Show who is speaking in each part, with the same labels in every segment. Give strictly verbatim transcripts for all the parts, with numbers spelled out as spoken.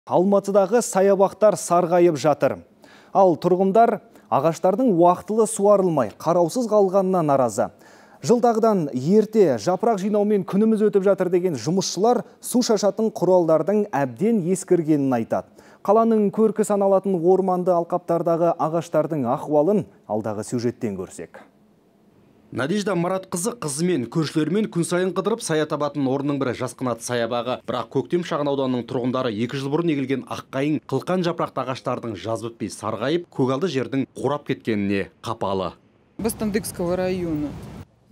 Speaker 1: Алматыдағы саябақтар сарғайып жатыр. Ал тұрғындар ағаштардың уақытылы суарылмай, қараусыз қалғанына наразы. Жылдағыдан ерте жапырақ жинаумен күніміз өтіп жатыр деген жұмысшылар су шашатын құралдардың әбден ескіргенін айтады. Қаланың көркі саналатын орманды алқаптардағы ағаштардың ахуалын алдағы сюжеттен көрсек.
Speaker 2: Надежда Маратқызы қызымен, көршілерімен күн сайын қыдырып сая табатын орынның бірі Жасқанат саябағы. Бірақ Көктем шағын ауданының тұрғындары екі жыл бұрын егілген аққайың, қылқан жапырақты ағаштардың жаз бітпей сарғайып, көгалды жердің қурап кеткеніне қапалы.
Speaker 3: Бостандыкского района.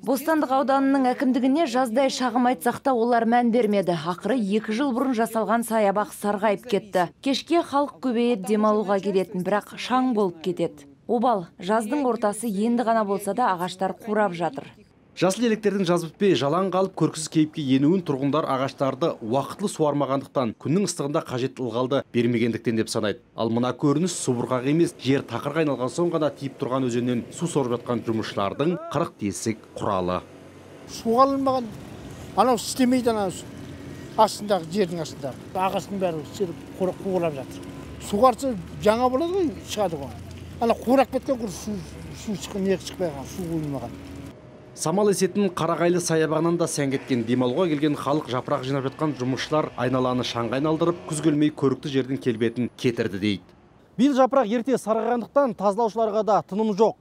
Speaker 4: Бостандық ауданының әкімдігіне жаздай шағым айтсақ та олар мән бермеді. Ақыры екі жыл бұрын жасалған саябақ сарғайып кетті. Кешке халық көбейіп демалуға келетін, бірақ шаң болып кетеді. Обал, жаздың ортасы енді ғана болса да ағаштар қурап жатыр.
Speaker 2: Жасыл електердің жаз бітпей жалаң қалып көрксіз кейіпке енуін тұрғындар ағаштарды уақытлы суармағандықтан, күннің ыстығында қажет ылғалды бермегендіктен деп санайды. Ал мына көрініс субұрқақ емес, жер тақырға айналған соң ғана тиіп тұрған өзеннен су сорып жатқан жұмысшылардың қырық тесік құралы.
Speaker 5: Суға алынбаған, анау істемейді, анау астындағы жердің астындағы. Ағаштың бәрі қурап жатыр. Суғарса жаңа болады ғой, шығады ғой. Ана қурап кеткен құр су шыққан, не шықпайған, су құйылмаған.
Speaker 2: Самал есетін Қарағайлы саябағынан да сән кеткен. Демалуға келген халық жапырақ жинап жатқан жұмысшылар айналаны шаңға айналдырып, күз келмей көрікті жердің келбетін кетірді дейді.
Speaker 6: Биыл жапырақ ерте сарғайғандықтан тазалаушыларға да тыным жоқ.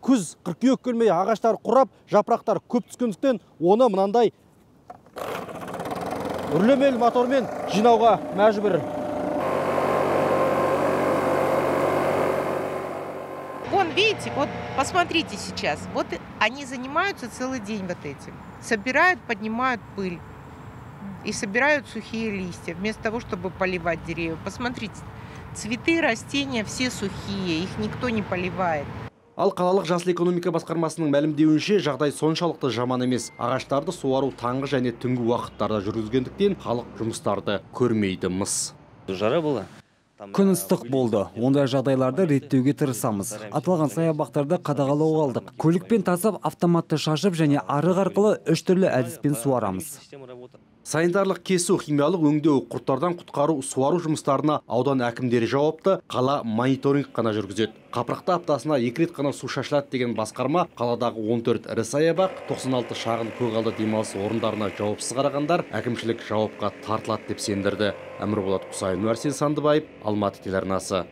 Speaker 6: Күз қыркүйек келмей ағаштар құрап, жапырақтар көп түскендіктен оны мынандай үрлемелі мотормен жинауға мәжбүр.
Speaker 7: Вон, видите, вот посмотрите сейчас, вот они занимаются целый день вот этим. Собирают, поднимают пыль и собирают сухие листья, вместо того, чтобы поливать деревья. Посмотрите, цветы, растения все сухие, их никто не поливает.
Speaker 2: Ал қалалық жасыл экономика басқармасының мәлімдеуінше жағдай соншалықты жаман емес. Ағаштарды суару таңғы және түнгі уақыттарда жүргізгендіктен халық жұмыстарды көрмейді мыс.
Speaker 8: Жара бола.
Speaker 9: Күн ыстық болды. Ондай жағдайларды реттеуге тырысамыз. Аталған саябақтарды қадағалауға алдық. Көлікпен тасып, автоматты шашып және арық арқылы үш түрлі әдіспен суарамыз.
Speaker 2: Санитарлық кесу, химиялық өңдеу, құрттардан құтқару, суару жұмыстарына аудан әкімдері жауапты, қала мониторинг қана жүргізеді. Қапырықта аптасына екі рет қана су шашылады деген басқарма қаладағы он төрт ірі саябақ, тоқсан алты шағын көгалды демалыс орындарына жауапсыз қарағандар әкімшілік жауапқа тартылады деп сендірді. Әмірболат Құсайын, Арсен Сандыбаев, Алматы телеарнасы.